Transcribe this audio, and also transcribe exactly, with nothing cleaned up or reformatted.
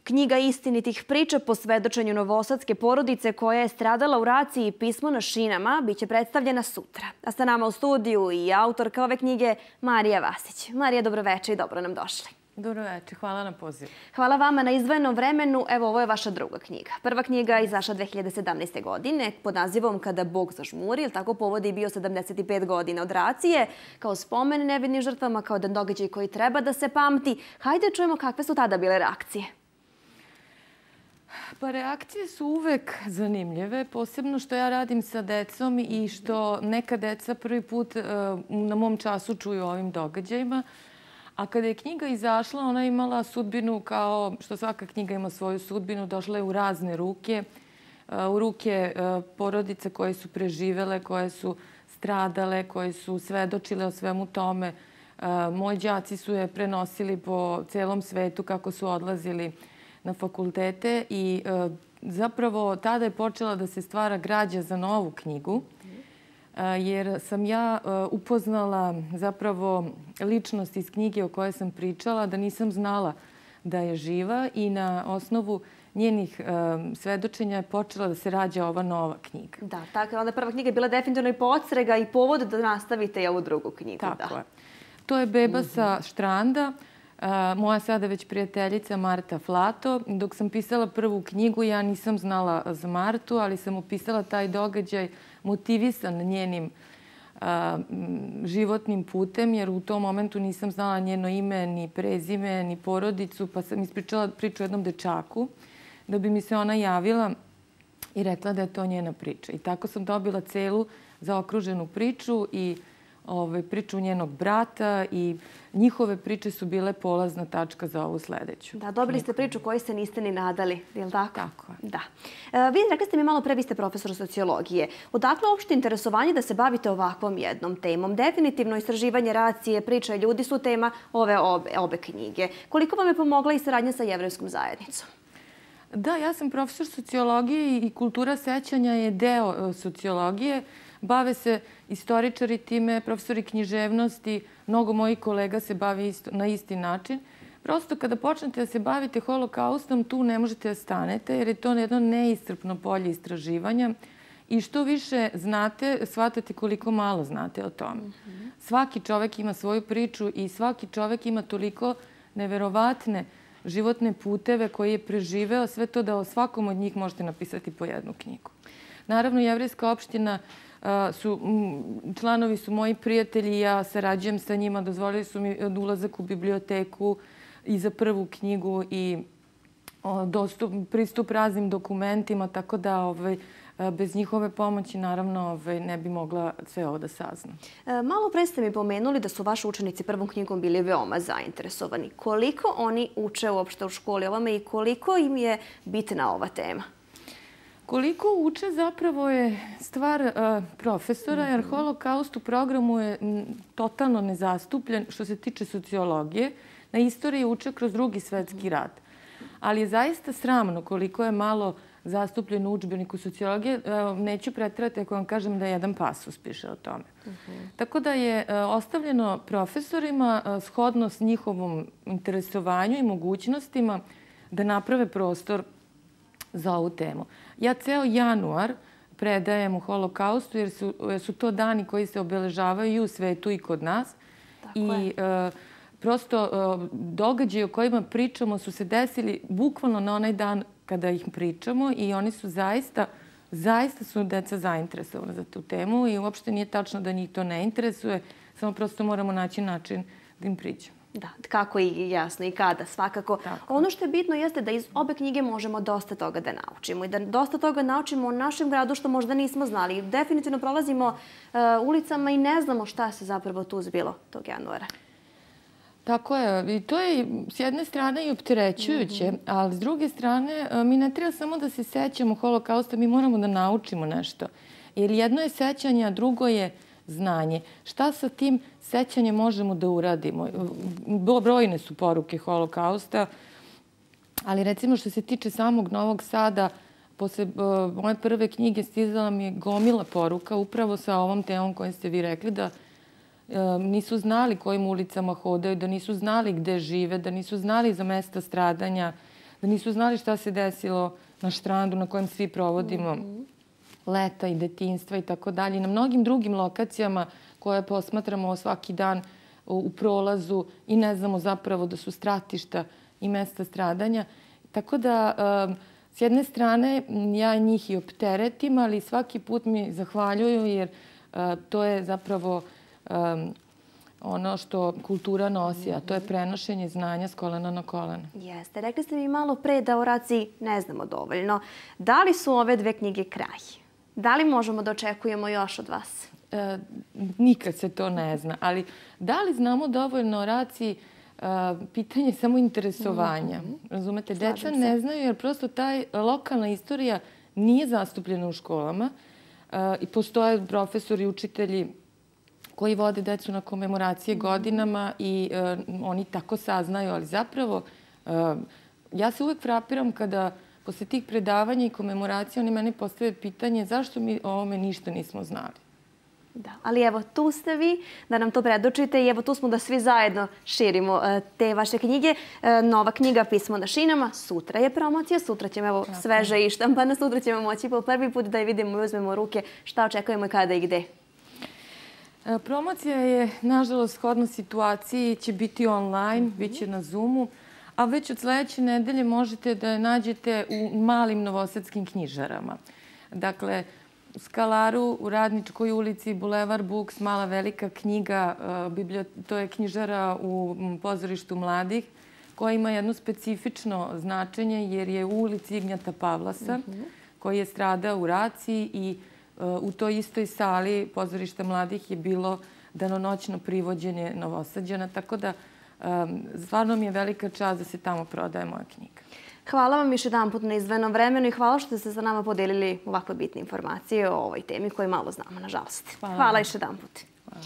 Knjiga istinitih priča po svedočenju novosadske porodice koja je stradala u raciji Pismo na šinama biće predstavljena sutra. A sa nama u studiju i autorka ove knjige Marija Vasić. Marija, dobroveče i dobro nam došli. Dobroveče, hvala na pozivu. Hvala vama na izdvojenom vremenu. Evo, ovo je vaša druga knjiga. Prva knjiga je izašla dve hiljade sedamnaeste. godine pod nazivom Kada Bog zažmuri, jer tako povod je bio sedamdeset pet godina od racije, kao spomen nevinim žrtvama, kao jedan događaj koji treba da se pamti. Hajde čujemo kakve su tada bile reakcije. Pa reakcije su uvek zanimljive, posebno što ja radim sa decom i što neka deca prvi put na mom času čuju o ovim događajima. A kada je knjiga izašla, ona je imala sudbinu kao što svaka knjiga ima svoju sudbinu. Došla je u razne ruke, u ruke porodice koje su preživele, koje su stradale, koje su svedočile o svemu tome. Moji đaci su je prenosili po celom svetu kako su odlazili na fakultete i zapravo tada je počela da se stvara građa za novu knjigu, jer sam ja upoznala zapravo ličnost iz knjige o kojoj sam pričala, da nisam znala da je živa i na osnovu njenih svedočenja je počela da se rađa ova nova knjiga. Da, tako je. Onda prva knjiga je bila definitivno i podsrega i povod da nastavite i ovu drugu knjigu. Tako je. To je Beba sa Štranda. Moja sada već prijateljica Marta Flato. Dok sam pisala prvu knjigu, ja nisam znala za Martu, ali sam opisala taj događaj motivisan njenim životnim putem, jer u tom momentu nisam znala njeno ime, ni prezime, ni porodicu, pa sam ispričala priču o jednom dečaku, da bi mi se ona javila i rekla da je to njena priča. I tako sam dobila celu zaokruženu priču i priču njenog brata i njihove priče su bile polazna tačka za ovu sledeću. Da, dobili ste priču koju se niste ni nadali, je li tako? Tako je. Da. Vi rekli ste mi malo pre, vi ste profesor sociologije. Odakle uopšte interesovanje da se bavite ovakvom jednom temom? Definitivno istraživanje racije, priča ljudi su tema ove obe knjige. Koliko vam je pomogla i saradnja sa jevrejskom zajednicom? Da, ja sam profesor sociologije i kultura sećanja je deo sociologije. Bave se istoričari time, profesori književnosti, mnogo mojih kolega se bavi na isti način. Prosto kada počnete da se bavite holokaustom, tu ne možete da stanete jer je to jedno neiscrpno polje istraživanja i što više znate, shvatate koliko malo znate o tome. Svaki čovek ima svoju priču i svaki čovek ima toliko neverovatne životne puteve koje je preživeo, sve to da o svakom od njih možete napisati po jednu knjigu. Naravno, jevrejska opština članovi su moji prijatelji, ja sarađujem sa njima, dozvolili su mi ulazak u biblioteku i za prvu knjigu i pristup raznim dokumentima, tako da bez njihove pomoći naravno ne bi mogla sve ovo da saznam. Malo pre ste mi pomenuli da su vaši učenici prvom knjigom bili veoma zainteresovani. Koliko oni uče uopšte u školi ovome i koliko im je bitna ova tema? Koliko uče zapravo je stvar profesora, jer holokaust u programu je totalno nezastupljen što se tiče sociologije. Na istoriji uče kroz Drugi svetski rat. Ali je zaista sramno koliko je malo zastupljen u udžbeniku sociologije. Neću preterati ako vam kažem da jedan pasus piše o tome. Tako da je ostavljeno profesorima shodno s njihovom interesovanju i mogućnostima da naprave prostor za ovu temu. Ja ceo januar predajem u holokaustu jer su to dani koji se obeležavaju i u svetu i kod nas. I prosto događaje o kojima pričamo su se desili bukvalno na onaj dan kada ih pričamo i oni su zaista, zaista su deca zainteresovana za tu temu i uopšte nije tačno da njih to ne interesuje, samo prosto moramo naći način da im priđemo. Da, kako i jasno i kada, svakako. Ono što je bitno jeste da iz obe knjige možemo dosta toga da naučimo i da dosta toga naučimo o našem gradu što možda nismo znali. Definitivno prolazimo ulicama i ne znamo šta se zapravo tu zbilo tog januara. Tako je. I to je s jedne strane i opterećujuće, ali s druge strane mi ne treba samo da se sećamo holokausta, mi moramo da naučimo nešto. Jer jedno je sećanje, a drugo je znanje. Šta sa tim sećanjem možemo da uradimo? Brojne su poruke holokausta, ali recimo što se tiče samog Novog Sada, posle moje prve knjige stizala mi je gomila poruka upravo sa ovom temom kojom ste vi rekli, da nisu znali kojim ulicama hodaju, da nisu znali gde žive, da nisu znali za mesta stradanja, da nisu znali šta se desilo na štrandu na kojem svi provodimo leta i detinjstva i tako dalje. I na mnogim drugim lokacijama koje posmatramo svaki dan u prolazu i ne znamo zapravo da su stratišta i mesta stradanja. Tako da, s jedne strane, ja njih i opteretim, ali svaki put mi zahvaljuju jer to je zapravo ono što kultura nosi, a to je prenošenje znanja s kolena na koleno. Jeste. Rekli ste mi malo pre da o raciji ne znamo dovoljno. Da li su ove dve knjige kraj? Da li možemo da očekujemo još od vas? E, nikad se to ne zna, ali da li znamo dovoljno o raciji, e, pitanje samo interesovanja. Razumete, deca ne znaju jer prosto taj lokalna istorija nije zastupljena u školama e, i postoje profesori i učitelji koji vode decu na komemoracije godinama i e, oni tako saznaju, ali zapravo e, ja se uvek frapiram kada posle tih predavanja i komemoracija oni mene postave pitanje zašto mi o ovome ništa nismo znali. Da, ali evo tu ste vi da nam to predočite i evo tu smo da svi zajedno širimo te vaše knjige. Nova knjiga Pismo na šinama, sutra je promocija, sutra ćemo evo sveže i štampana, sutra ćemo moći po prvi put da je vidimo i uzmemo u ruke šta očekujemo i kada i gde. Promocija je, nažalost, shodno situaciji, će biti online, bit će na Zoomu, a već od sledeće nedelje možete da je nađete u malim novosadskim knjižarama. Dakle, u Skalaru, u Radničkoj ulici, Bulevar Books, Mala velika knjiga, to je knjižara u pozorištu mladih, koja ima jedno specifično značenje jer je u ulici Ignjata Pavlasa, koji je stradao u raciji i u toj istoj sali pozorišta mladih je bilo danonoćno privođenje Novosađana, tako da stvarno mi je velika čast da se tamo prodaje moja knjiga. Hvala vam još jedan put na izdvojenom vremenu i hvala što ste sa nama podelili ovakve bitne informacije o ovoj temi koju malo znamo, nažalost. Hvala još jedan put.